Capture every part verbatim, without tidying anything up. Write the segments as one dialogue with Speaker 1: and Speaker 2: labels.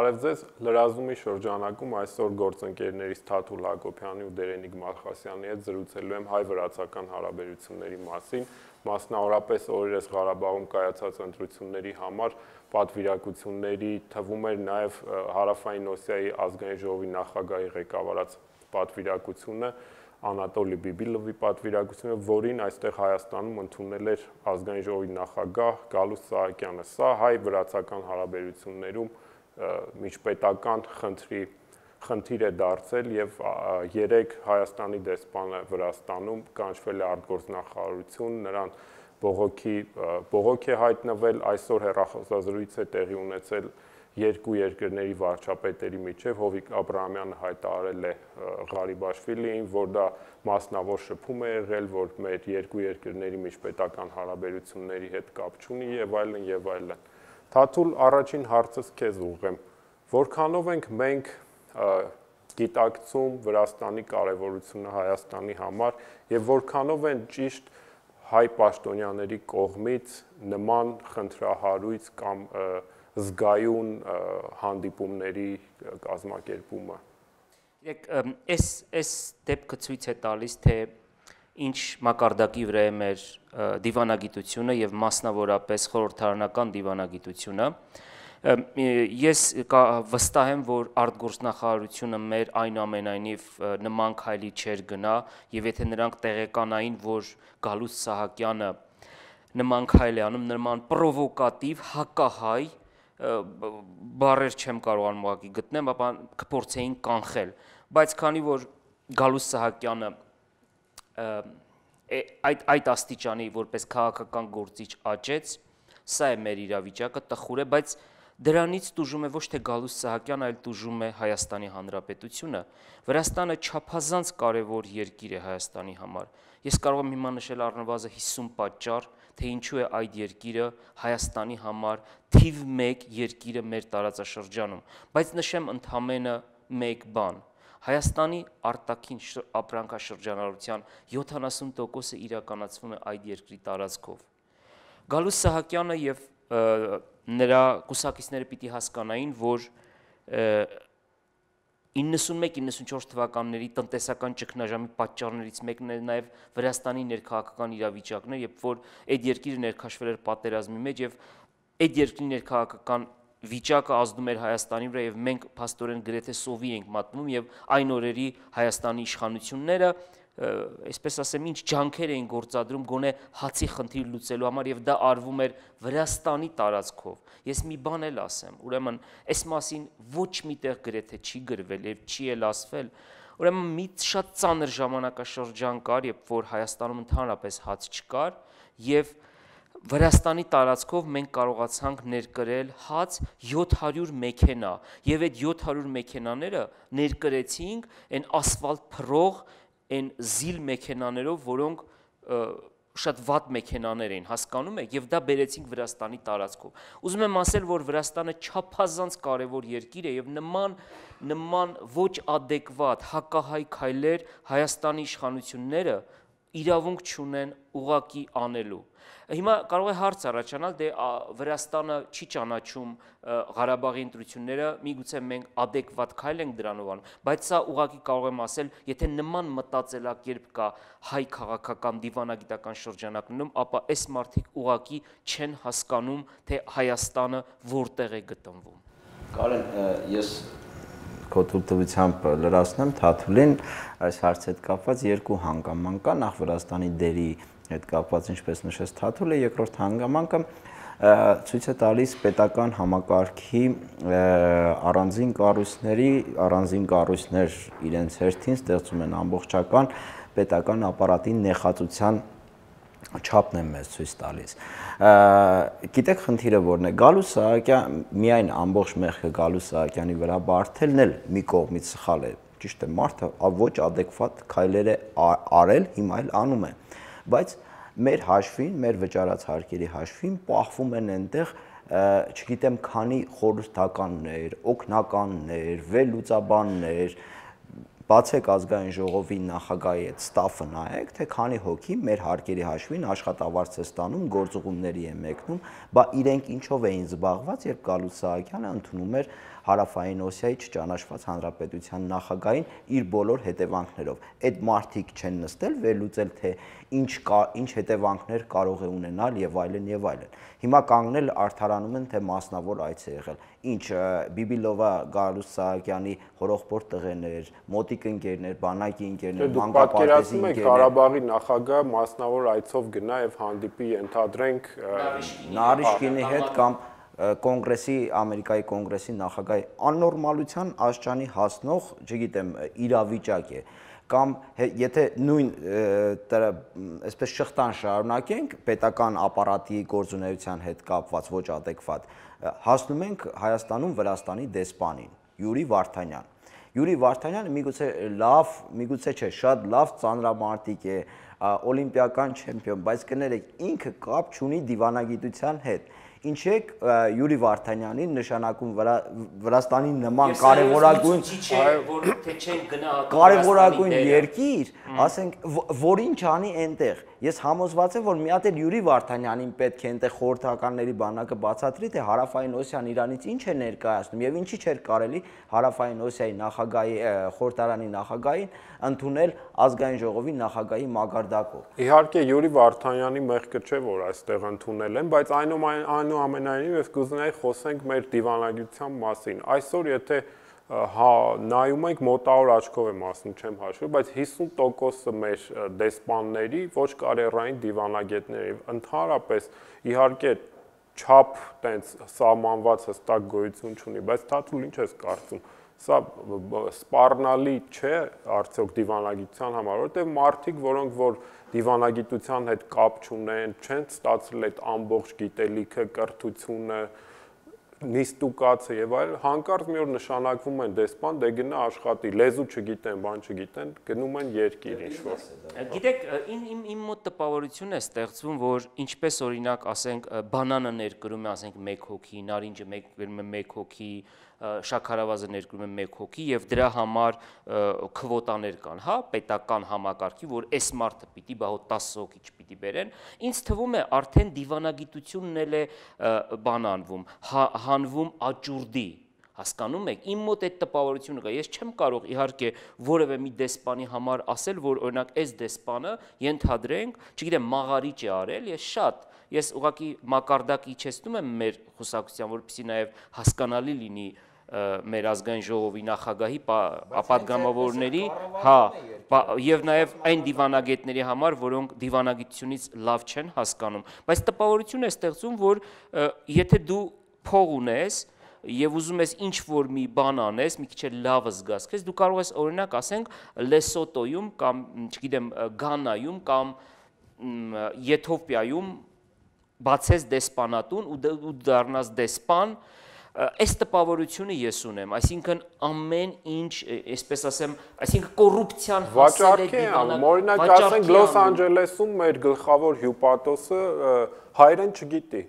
Speaker 1: Բարև ձեզ, լրազումի շրջանակում այսօր գործընկերներից Թաթուլ Հակոբյանի ու Դերենիկ Մալխասյանի հետ զրուցելու եմ հայ-վրացական հարաբերությունների մասին, մասնավորապես օրերս Ղարաբաղում կայացած ընտրությունների համար պատվիրակությունների թվում էր նաև Հարավային Օսիայի ազգային ժողովի նախագահի ղեկավարած պատվիրակությունը, Անատոլի Բիբիլովի պատվիրակությունը, որին այստեղ Հայաստանում ընդունել էր ազգային ժողովի նախագահ Գալուստ Սահակյանը։ Սա հայ-վրացական հարաբերություններում միջպետական խնդրի խնդիր է դարձել եւ երեք Հայաստանի դեսպանը Վրաստանում կանչվել է արտգործնախարարություն, նրան բողոքի բողոք է հայտնվել, այսօր հեռախոսազրույց է տեղի ունեցել երկու երկրների վարչապետերի միջև, Հովիկ Աբրահամյանը հայտարարել է Ղարիբաշվիլիին, որ դա մասնավոր շփում է եղել, որ մեր երկու երկրների միջպետական հարաբերությունների հետ կապ չունի եւ այլն եւ այլն։ Թաթուլ, առաջին հարցս քեզ ուղղեմ, որքանով ենք մենք գիտակցում Վրաստանի կարևորությունը Հայաստանի համար եւ որքանով են ճիշտ հայ պաշտոնյաների կողմից նման խնդրահարույց կամ զգայուն հանդիպումների կազմակերպումը։
Speaker 2: Երեք, այս այս դեպքը ցույց է տալիս, թե ինչ մակարդակի վրա է մեր դիվանագիտությունը եւ մասնավորապես խորհրդարանական դիվանագիտությունը։ Ես վստահ եմ, որ արտգործնախարարությունը մեր այնուամենայնիվ նման քայլի չէր գնա եւ եթե նրանք տեղեկանային, որ Գալուստ Սահակյանը նման քայլ է անում, նման պրովոկատիվ հակահայ բառեր չեմ կարողանում ուղղակի գտնեմ, ապա կփորձեին կանխել, բայց քանի որ Գալուստ Սահակյանը այդ այդ աստիճանի որպես քաղաքական գործիչ աճեց, սա է մեր իրավիճակը, տխուր է, բայց դրանից տուժում է ոչ թե Գալուստ Սահակյանը, այլ տուժում է Հայաստանի Հանրապետությունը։ Վրաստանը չափազանց կարևոր երկիր է Հայաստանի համար։ Ես կարող եմ հիմա նշել առնվազն հիսուն պատճառ, թե ինչու է այդ երկիրը Հայաստանի համար թիվ մեկ երկիրը մեր տարածաշրջանում, բայց նշեմ ընդամենը մեկ բան։ Հայաստանի արտաքին ապրանքաշրջանառության յոթանասուն տոկոսը իրականացվում է այդ երկրի տարածքով։ Գալուստ Սահակյանը եւ նրա կուսակիցները պիտի հասկանային, որ իննսունմեկ իննսունչորս թվականների տնտեսական ճգնաժամի պատճառներից մեկն է նաև Վրաստանի ներքաղաքական իրավիճակն է, երբ որ այդ երկիրը ներքաշվել էր պատերազմի մեջ եւ այդ երկրի ներքաղաքական վիճակը ազդում էր Հայաստանի վրա եւ մենք փաստորեն գրեթե սովի ենք մատնում եւ այն օրերի Հայաստանի իշխանությունները, այսպես ասեմ, ինչ ջանքեր էին գործադրում գոնե հացի խնդիր լուծելու համար եւ դա արվում էր Վրաստանի տարածքով։ Ես մի բան էլ ասեմ, ուրեմն այս մասին ոչ միտեղ գրեթե չի գրվել եւ չի էլ ասվել, ուրեմն մի շատ ծանր ժամանակաշրջան կար, երբ որ Հայաստանում ընդհանրապես հաց չկար եւ Վրաստանի տարածքով մենք կարողացանք ներկրել հաց յոթ հարյուր մեքենա եւ այդ յոթ հարյուր մեքենաները ներկրեցինք այն ասֆալտ փռող այն զիլ մեքենաներով, որոնք շատ վատ մեքենաներ էին, հասկանում եք, եւ դա բերեցինք Վրաստանի տարածքով։ Ուզում եմ ասել, որ Վրաստանը չափազանց կարևոր երկիր է եւ նման նման ոչ ադեկվատ հակահայ քայլեր Հայաստանի իշխանությունները իրավունք չունեն ուղակի անելու։ Հիմա կարող է հարց առաջանալ, դե Վրաստանը չի ճանաչում Ղարաբաղի ընտրությունները, միգուցե մենք ադեկվատ քայլ ենք դրանով անում, բայց սա ուղղակի կարող եմ ասել, եթե նման մտածելակերպ կա հայ քաղաքական դիվանագիտական շրջանակներում, ապա այս մարդիկ ուղղակի չեն հասկանում, թե Հայաստանը որտեղ է գտնվում։
Speaker 3: Կարեն, ես քո թույլտվությամբ լրացնեմ Թաթուլին, այս հարցի հետ կապված երկու հանգաման կա, նախ Վրաստանի դերի հետ կապված, ինչպես նշեց Թաթուլը, երկրորդ հանգամանքը ցույց է տալիս պետական համակարգի առանձին կառույցների, առանձին կառույցներ իրենց հերթին ստեղծում են ամբողջական պետական ապարատի նեխածության չափն է մեզ ցույց տալիս։ Գիտեք խնդիրը որն է, Գալուստ Սահակյան միայն ամբողջ մեղքը Գալուստ Սահակյանի վրա բարթելն էլ մի կողմից սխալ է, ճիշտ է, մարդը ոչ ադեկվատ քայլեր է արել, հիմա էլ անում է, բայց մեր հաշվին, մեր վճարած հարկերի հաշվին պահվում են այնտեղ, չգիտեմ, քանի խորհրդականներ, օգնականներ, վերլուծաբաններ, բացեք ազգային ժողովի նախագահի այդ ստաֆը նայեք, թե քանի հոգի մեր հարկերի հաշվին աշխատավարձ է ստանում, գործուղումների է մեկնում, բա իրենք ինչով էին զբաղված, երբ Գալուստ Սահակյանը ընդունում էր Հարավային Օսիայի չճանաչված հանրապետության նախագահին իր բոլոր հետևանքներով։ Այդ մարդիկ չեն նստել վերլուծել, թե ինչ ինչ հետևանքներ կարող է ունենալ եւ այլն եւ այլն։ Հիմա կանգնել արդարանում են, թե մասնավոր այց է եղել։ Ինչ Բիբիլովա Գալուստ Սահակյանի հորողբորդ տղերներ, մոտիկ ընկերներ, բանակի ընկերներ,
Speaker 1: մանկապարտեզի ընկերներ։ Ղարաբաղի նախագահ մասնավոր այցով գնա եւ հանդիպի ենթադրենք
Speaker 3: Նարիշկինի հետ կամ Կոնգրեսի, Ամերիկայի կոնգրեսի նախագահի աննորմալության աշխանի հասնող, չգիտեմ, իրավիճակ է, կամ եթե նույն այսպես շղթան շարունակենք պետական ապարատի գործունեության հետ կապված ոչ adekvat, հասնում ենք Հայաստանում Վրաստանի դեսպանին, Յուրի Վարդանյան։ Յուրի Վարդանյանը միգուցե լավ, միգուցե չէ, շատ լավ ծանրամարտիկ է, օլիմպիական չեմպիոն, բայց կներեք, ինքը կապ չունի դիվանագիտության հետ։ Ինչ եք Յուրի Վարդանյանին նշանակում Վրաստանի նման կարևորագույն կարևորագույն երկիր, ասենք, որին չանի այնտեղ։ Ես համոզված եմ, որ մի հատ էլ Յուրի Վարդանյանին պետք է այնտեղ խորհրդականների բանակը բացատրի, թե Հարավային Օսիան Իրանից ինչ է ներկայացնում եւ ինչի չէր կարելի Հարավային Օսիայի նախագահի խորհրդարանի նախագահին ընդունել ազգային ժողովի նախագահի մակարդակով։
Speaker 1: Իհարկե Յուրի Վարդանյանի մեղքը չէ, որ այստեղ ընդունել են, բայց այնուամենայնիվ ես կուզենայի խոսենք մեր դիվանագիտության մասին։ Այսօր եթե հա նայում ենք մոտավոր աչքով եմ ասում, չեմ հաշվել, բայց հիսուն տոկոսը մեր դեսպանների ոչ կարեռային դիվանագետների, ընդհանրապես իհարկե չափ տենց սահմանված հստակ գոյություն չունի, բայց Թաթուլ ինչ ես կարծում։ Սա սպառնալի չէ արդյոք դիվանագիտության համար, որովհետև մարդիկ, որոնք որ դիվանագիտության հետ կապ չունեն, չեն ստացել այդ ամբողջ գիտելիքը, կրթությունը, նիստուկացը եւ այլ, հանկարծ մի օր նշանակվում են դեսպան, դե գնա աշխատի, լեզու չգիտեն, բան չգիտեն, գնում են երկիր ինչ-որ։
Speaker 2: Գիտեք, իմ իմ մոտ տպավորություն է ստեղծվում, որ ինչպես օրինակ, ասենք, բանանը ներկրում է, ասենք, մեկ հոգի, նարինջը ներկրում է մեկ հոգի, շաքարավազը ներկրում է մեկ հոգի եւ դրա համար քվոտաներ կան, հա, պետական համակարգի, որ այս մարդը պիտի բա հոտ տասը հոգի չպիտի բերեն, ինձ թվում է արդեն դիվանագիտությունն էլ է բանանվում, հանվում աճուրդի, հասկանում եք, իմ մոտ այդ տպավորությունը կա, ես չեմ կարող իհարկե որևէ մի դեսպանի համար ասել, որ օրինակ այս դեսպանը ենթադրենք, չգիտեմ, մաղարիչ է արել, ես շատ, ես ուղղակի մակարդակ իջեցնում եմ մեր խուսակցության, որպեսզի նաև հասկանալի լինի մեր ազգային ժողովի նախագահի ապատգամավորների, հա, եւ նաեւ այն դիվանագետների համար, որոնք դիվանագիտությունից լավ չեն հասկանում, բայց տպավորություն է ստեղծում, որ եթե դու փող ունես եւ ուզում ես ինչ որ մի բան անես, մի քիչ լավ զգաս քեզ, դու կարող ես օրինակ ասենք Լեսոտոյում կամ, չգիտեմ, Գանայում կամ Եթովպիայում բացես դեսպանատուն ու դառնաս դեսպան, այս տպավորությունը ես ունեմ, այսինքն ամեն ինչ, այսպես ասեմ, այսինքն կոռուպցիան
Speaker 1: հասել է դիվանագիտության, օրինակ ասենք Լոս Անջելեսում մեր գլխավոր հյուպատոսը հայերեն չգիտի,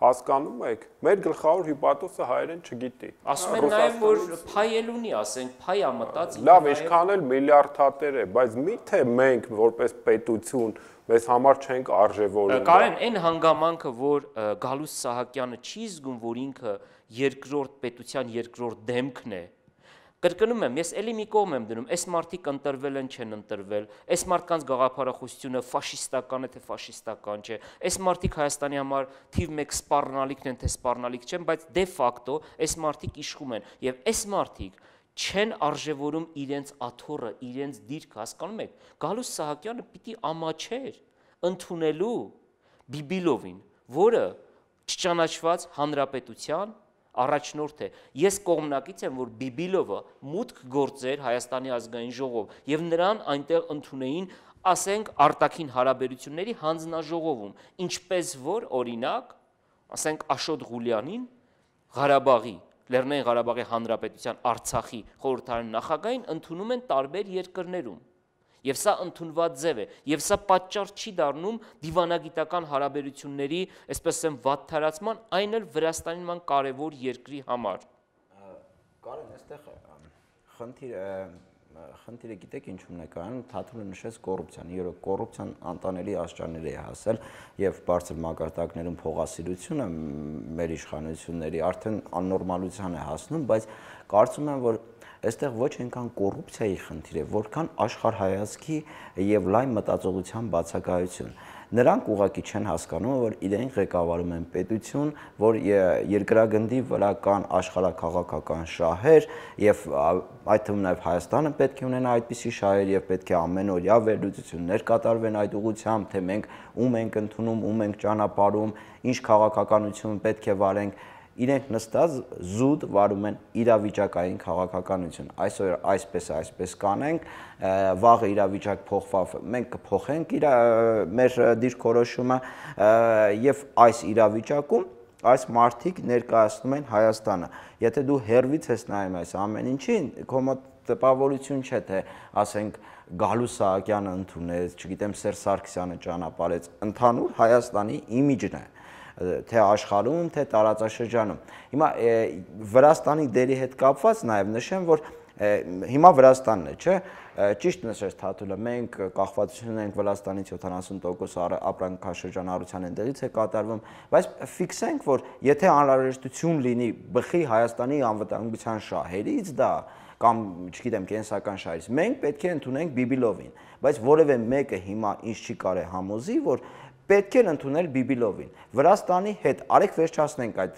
Speaker 1: հասկանում եք, մեր գլխավոր հյուպատոսը հայերեն չգիտի։
Speaker 2: Ասում են նաև, որ փայ էլ ունի, ասենք, փայ ա մտած։
Speaker 1: Լավ, ինչքան էլ միլիարդատեր է, բայց միթե մենք որպես պետություն մեզ համար չենք արժևորում։
Speaker 2: Կարեն, այն հանգամանքը, որ Գալուստ Սահակյանը չի զգում, որ ինքը երկրորդ պետության երկրորդ դեմքն է, կրկնում եմ, ես էլի մի կողմ եմ դնում, այս մարդիկ ընտրվել են, չեն ընտրվել, այս մարդկանց գաղափարախոսությունը ֆաշիստական է, թե ֆաշիստական չէ, այս մարդիկ Հայաստանի համար թիվ մեկ սպառնալիքն են, թե սպառնալիք չեն, բայց դե ֆակտո այս մարդիկ իշխում են, եւ այս մարդիկ չեն արժևորում իրենց աթոռը, իրենց դիրքը, հասկանում եք, Գալուստ Սահակյանը պիտի ամաչեր ընդունելու Բիբիլովին, որը չճանաչված հանրապետության առաջնորդ է։ Ես կողմնակից եմ, որ Բիբիլովը մուտք գործեր Հայաստանի ազգային ժողով եւ նրան այնտեղ ընդունեին, ասենք, արտաքին հարաբերությունների հանձնաժողովում, ինչպես որ օրինակ, ասենք, Աշոտ Ղուլյանին Ղարաբաղի, Լեռնային Ղարաբաղի Հանրապետության Արցախի խորհրդարանի նախագահին ընդունում են տարբեր երկրներում։ Եվ սա ընդունված ձև է, եւ սա պատճառ չի դառնում դիվանագիտական հարաբերությունների, այսպես ասեմ, վատթարացման, այն էլ Վրաստանի նման կարևոր երկրի համար։
Speaker 3: Կարեն, այստեղ խնդիր Խնդիրը գիտեք ինչու՞մն է կայանում, Թաթուլը նշեց կոռուպցիան, իրոք կոռուպցիան անտանելի աստիճանների է հասել եւ բարձր մակարդակներում փողասիրությունը մեր իշխանությունների արդեն աննորմալության է հասնում, բայց կարծում եմ, որ այստեղ ոչ այնքան կոռուպցիայի խնդիր է, որքան աշխարհայացքի եւ լայն մտածողության բացակայություն։ Նրանք ուղղակի չեն հասկանում, որ իրենք ղեկավարում են պետություն, որ երկրագնդի վրա կան աշխարհաքաղաքական շահեր եւ այդ թվում նաեւ Հայաստանը պետք է ունենա այդպիսի շահեր եւ պետք է ամենօրյա վերլուծություններ կատարվեն այդ ուղղությամբ, թե մենք ում ենք ընդունում, ում ենք ճանապարհում, ինչ քաղաքականություն պետք է վարենք։ Իրենք նստած զուտ վարում են իրավիճակային քաղաքականություն։ Այսօր այսպես այսպես կանենք, վաղը իրավիճակ փոխվավ, մենք կփոխենք իր մեր դիրքորոշումը եւ այս իրավիճակում այս մարդիկ ներկայացնում են Հայաստանը։ Եթե դու հերվից ես նայում այս ամեն ինչին, քո մոտ տպավորություն չէ, թե ասենք Գալու Սահակյանը ընդունեց, չգիտեմ Սերժ Սարգսյանը ճանապարհեց, ընդհանուր Հայաստանի իմիջն է, թե աշխարհում, թե տարածաշրջանում։ Հիմա Վրաստանի դերի հետ կապված նաև նշեմ, որ հիմա Վրաստանն է, չէ՞, ճիշտ նշեց Թաթուլը, մենք կախվածություն ունենք Վրաստանից յոթանասուն տոկոս ապրանքաշրջանառության այնտեղից է կատարվում, բայց ֆիքսենք, որ եթե անհրաժեշտություն լինի բխի Հայաստանի անվտանգության շահերից դա կամ, չգիտեմ, կենսական շահերից, մենք պետք է ընդունենք Բիբիլովին, բայց որևէ մեկը հիմա ինչ չի կարե համոզի, որ պետք է ընդունել Բիբիլովին։ Վրաստանի հետ արեք վերջացնենք այդ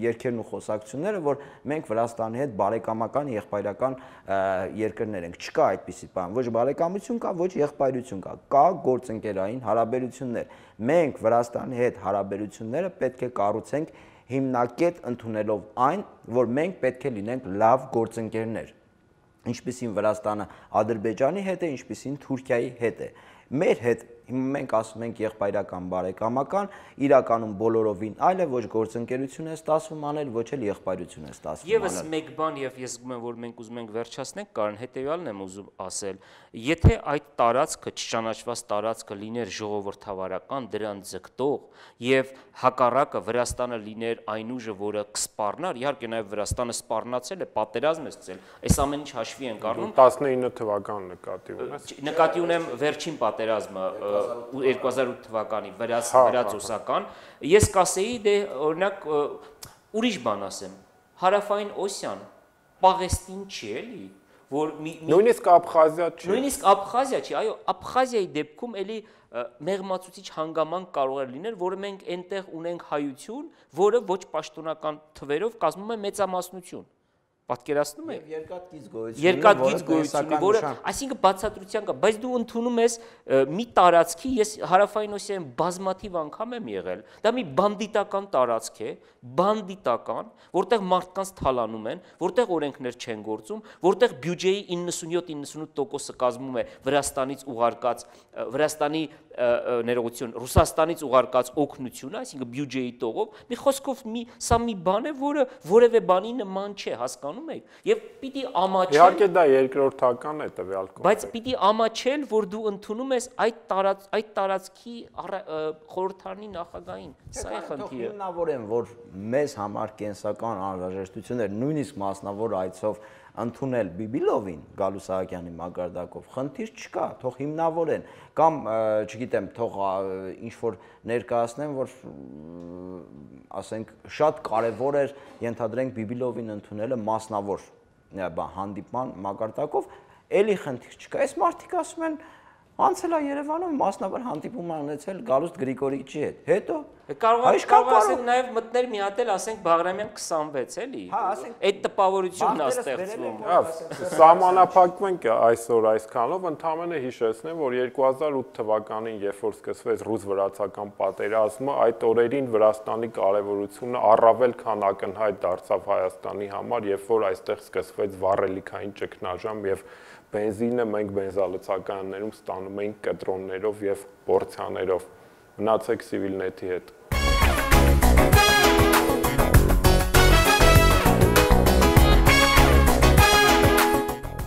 Speaker 3: երկերն ու խոսակցությունները, որ մենք Վրաստանի հետ բարեկամական, եղբայրական երկրներ ենք։ Չկա այդպիսի բան, ոչ բարեկամություն կա, ոչ եղբայրություն կա, կա գործընկերային հարաբերություններ։ Մենք Վրաստանի հետ հարաբերությունները պետք է կառուցենք հիմնակետ ընդունելով այն, որ մենք պետք է լինենք լավ գործընկերներ։ Ինչպիսին Վրաստանը Ադրբեջանի հետ է, ինչպիսին Թուրքիայի հետ է։ Մեր հետ մենք ասում ենք եղբայրական բարեկամական, իրականում բոլորովին այլ է, ոչ գործընկերություն է ստացվում անել, ոչ էլ եղբայրություն է ստացվում անել։
Speaker 2: Եվս մեկ բան եւ ես զգում եմ, որ մենք ուզում ենք վերջացնենք, կարան հետեւյալն եմ ուզում ասել։ Եթե այդ տարածքը, չճանաչված տարածքը լիներ ժողովրդավարական, դրան ձգտող եւ հակառակը Վրաստանը լիներ այն ուժը, որը կսպառնար, իհարկե նաեւ Վրաստանը սպառնացել է, պատերազմ է սկսել, այս ամեն ինչ հաշվի ենք առնում։
Speaker 1: տասնինը թվականն նկատի ունես։
Speaker 2: Նկատի ունեմ վերջին պատերազմը երկու հազար ութ թվականի վրացոսական, ես կասեի դե օրինակ ուրիշ բան ասեմ, Հարավային Օսիան Պաղեստին չի էլի, որ
Speaker 1: նույնիսկ Աբխազիա չի։
Speaker 2: Նույնիսկ Աբխազիա չի, այո, Աբխազիայի դեպքում էլի մեղմացուցիչ հանգամանք կարող է լինել, որը մենք այնտեղ ունենք հայություն, որը ոչ պաշտոնական թվերով կազմում է մեծամասնություն։ Պատկերացնում եք։
Speaker 3: Երկաթգիծ գոյություն,
Speaker 2: երկաթգիծ գոյություն, որը, այսինքն բացատրության կա, բայց դու ընդունում ես մի տարածքի, ես Հարավային Օսիայում բազմաթիվ անգամ եմ եղել, դա մի բանդիտական տարածք է, բանդիտական, որտեղ մարդկանց թալանում են, որտեղ օրենքներ չեն գործում, որտեղ բյուջեի իննսունյոթ իննսունութ տոկոսը կազմում է Վրաստանից ուղարկած, Վրաստանի ներողություն, Ռուսաստանից ուղարկած օգնությունը, այսինքն բյուջեի տողով, մի խոսքով մի սա մի բան է, որը որևէ բանի նման չէ, հասկանում եք, եւ պիտի ամաչել։
Speaker 1: Իհարկե դա երկրորդական է տվյալ կոնտեքստում։
Speaker 2: Բայց պիտի ամաչել, որ դու ընդունում ես այդ տարած այդ տարածքի խորհրդարանի նախագահին։ Սա է խնդիրը։
Speaker 3: Հիմնավորեմ, որ մեզ համար կենսական անհրաժեշտություններ, նույնիսկ մասնավոր այցով ընդունել Բիբիլովին Գալու Սահակյանի մակարդակով խնդիր չկա, թող հիմնավորեն կամ չգիտեմ, թող ինչ որ ներկայացնեն, որ ասենք շատ կարևոր էր ենթադրենք Բիբիլովին ընդունելը մասնավոր հանդիպման մակարդակով, էլի խնդիր չկա։ Այս մարդիկ ասում են անցել է Երևանում մասնավոր հանդիպում անեցել Գալուստ Գրիգորիչի հետ։ Հետո
Speaker 2: կարող կարող ասենք նաև մտներ մի հատ էլ ասենք Բաղրամյան քսանվեց էլի։ Այդ տպավորությունն է ստեղծվում։
Speaker 1: Սահմանափակվենք այսօր այսքանով, ընդհանրապես հիշեցնեմ, որ երկու հազար ութ թվականին, երբ որ սկսվեց ռուս-վրացական պատերազմը, այդ օրերին Վրաստանի կարևորությունը առավել քան ակնհայտ դարձավ Հայաստանի համար, երբ որ այստեղ սկսվեց վառելիքային ճգնաժամ եւ բենզինը մենք բենզալցականներում ստանում էինք կտրոններով եւ պորցիաներով։ Մնացեք Civilnet-ի հետ։